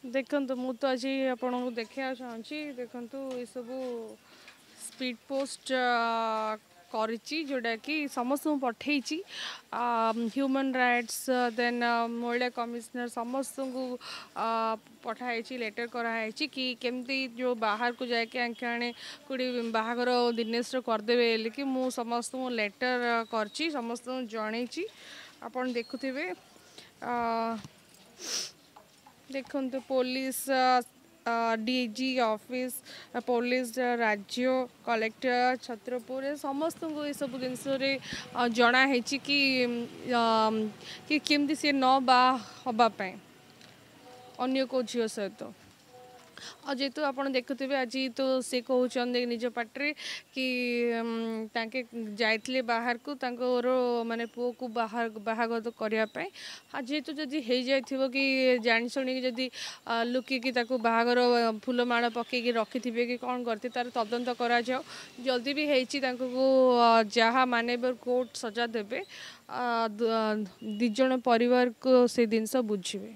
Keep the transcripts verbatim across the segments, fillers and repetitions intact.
ଦେଖନ୍ତୁ, ମୁଁ ତ ଆଜି ଆପଣଙ୍କୁ ଦେଖିବାକୁ ଚାହୁଁଛି। ଦେଖନ୍ତୁ, ଏସବୁ ସ୍ପିଡ୍ ପୋଷ୍ଟ କରିଛି, ଯେଉଁଟାକି ସମସ୍ତଙ୍କୁ ପଠେଇଛି, ହ୍ୟୁମାନ୍ ରାଇଟ୍ସ, ଦେନ୍ ମହିଳା କମିଶନର, ସମସ୍ତଙ୍କୁ ପଠାହେଇଛି, ଲେଟର୍ କରାହେଇଛି କି କେମିତି ଯେଉଁ ବାହାରକୁ ଯାଇକି ଆଙ୍କେ ଆଣେ କେଉଁଠି ବାହାଘର ଦିନେଶର କରିଦେବେ ବୋଲିକି। ମୁଁ ସମସ୍ତଙ୍କୁ ଲେଟର୍ କରିଛି, ସମସ୍ତଙ୍କୁ ଜଣେଇଛି। ଆପଣ ଦେଖୁଥିବେ, ଦେଖନ୍ତୁ, ପୋଲିସ ଡିଜି ଅଫିସ୍, ପୋଲିସ, ରାଜ୍ୟ କଲେକ୍ଟର, ଛତ୍ରପୁର, ସମସ୍ତଙ୍କୁ ଏସବୁ ଜିନିଷରେ ଜଣା ହେଇଛି କି କି କେମିତି ସିଏ ନ ବାହା ହେବା ପାଇଁ ଅନ୍ୟ କେଉଁ ଝିଅ ସହିତ। ଆଉ ଯେହେତୁ ଆପଣ ଦେଖୁଥିବେ, ଆଜି ତ ସେ କହୁଛନ୍ତି ନିଜ ପାଟିରେ କି ତାଙ୍କେ ଯାଇଥିଲେ ବାହାରକୁ ତାଙ୍କର ମାନେ ପୁଅକୁ ବାହା ବାହାଘର କରିବା ପାଇଁ। ଆଉ ଯେହେତୁ ଯଦି ହେଇଯାଇଥିବ କି ଜାଣିଶୁଣିକି ଯଦି ଲୁକିକି ତାକୁ ବାହାଘର ଫୁଲମାଳ ପକେଇକି ରଖିଥିବେ କି କ'ଣ କରିଥିବେ, ତାର ତଦନ୍ତ କରାଯାଉ। ଜଲ୍ଦି ବି ହେଇଛି, ତାଙ୍କୁ ଯାହା ମାନ୍ୟବର କୋର୍ଟ ସଜା ଦେବେ, ଦୁଇ ଜଣ ପରିବାରକୁ ସେ ଜିନିଷ ବୁଝିବେ,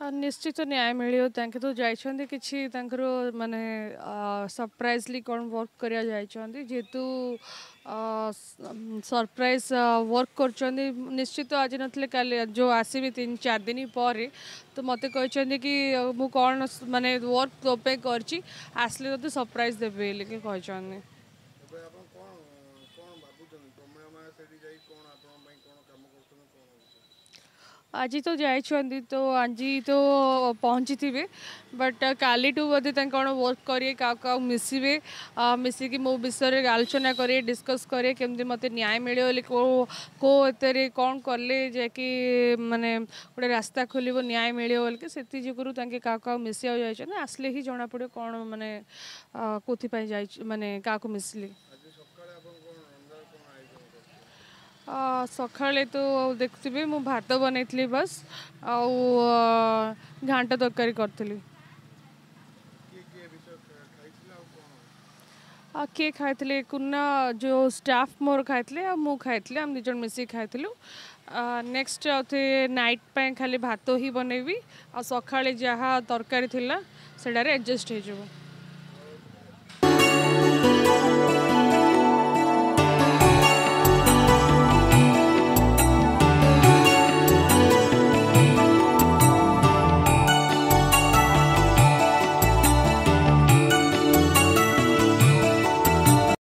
ନିଶ୍ଚିତ ନ୍ୟାୟ ମିଳିବ। ତାଙ୍କେ ତ ଯାଇଛନ୍ତି କିଛି ତାଙ୍କର ମାନେ ସରପ୍ରାଇଜଲି କ'ଣ ୱାର୍କ କରିବା ଯାଇଛନ୍ତି। ଯେହେତୁ ସରପ୍ରାଇଜ ୱାର୍କ କରୁଛନ୍ତି, ନିଶ୍ଚିତ ଆଜି ନଥିଲେ କାଲି ଯେଉଁ ଆସିବେ ତିନି ଚାରି ଦିନ ପରେ, ତ ମୋତେ କହିଛନ୍ତି କି ମୁଁ କ'ଣ ମାନେ ୱାର୍କ ତୋ ପାଇଁ କରିଛି, ଆସିଲେ ତୋତେ ସରପ୍ରାଇଜ ଦେବେ ବୋଲିକି କହିଛନ୍ତି। ଏବେ ଆପଣ କ'ଣ କ'ଣ ଭାବୁଛନ୍ତି, ପ୍ରମିଳା ମା ସେଠି ଯାଇ କ'ଣ ଆପଣଙ୍କ ପାଇଁ କ'ଣ କାମ କରୁଛନ୍ତି, କ'ଣ ହେଉଛି? ଆଜି ତ ଯାଇଛନ୍ତି, ତ ଆଜି ତ ପହଞ୍ଚିଥିବେ, ବଟ୍ କାଲିଠୁ ବୋଧେ ତାଙ୍କ କ'ଣ ୱାର୍କ କରିବେ, କାହାକୁ କାହାକୁ ମିଶିବେ, ମିଶିକି ମୋ ବିଷୟରେ ଆଲୋଚନା କରିବେ, ଡିସ୍କସ୍ କରିବେ କେମିତି ମୋତେ ନ୍ୟାୟ ମିଳିବ ବୋଲି, କେଉଁ କେଉଁ ଏଥିରେ କ'ଣ କଲେ ଯାଇକି ମାନେ ଗୋଟେ ରାସ୍ତା ଖୋଲିବ, ନ୍ୟାୟ ମିଳିବ ବୋଲିକି। ସେଥି ଯୋଗୁରୁ ତାଙ୍କେ କାହାକୁ କାହାକୁ ମିଶିବାକୁ ଯାଇଛନ୍ତି। ଆସିଲେ ହିଁ ଜଣାପଡ଼ିବ କ'ଣ ମାନେ କେଉଁଥିପାଇଁ ଯାଇଛି, ମାନେ କାହାକୁ ମିଶିଲେ। ଆଜି ସକାଳେ ଆପଣ କ'ଣ ରନ୍ଧାର କ'ଣ ଆୟୋଜନ କରିଥିଲେ? ସକାଳେ ତ ଦେଖୁଥିବେ, ମୁଁ ଭାତ ବନେଇଥିଲି ବାସ୍, ଆଉ ଘାଣ୍ଟ ତରକାରୀ କରିଥିଲି। କିଏ କିଏ ବିଷୟ ଖାଇଥିଲେ ଆଉ କ'ଣ? ଆଉ କିଏ ଖାଇଥିଲେ? କୁନା ଯେଉଁ ଷ୍ଟାଫ୍ ମୋର ଖାଇଥିଲେ, ଆଉ ମୁଁ ଖାଇଥିଲି, ଆମେ ଦୁଇ ଜଣ ମିଶିକି ଖାଇଥିଲୁ। ନେକ୍ସଟ ଆଉ ନାଇଟ୍ ପାଇଁ ଖାଲି ଭାତ ହିଁ ବନେଇବି, ଆଉ ସକାଳେ ଯାହା ତରକାରୀ ଥିଲା ସେଟାରେ ଆଡ଼ଜଷ୍ଟ ହେଇଯିବ।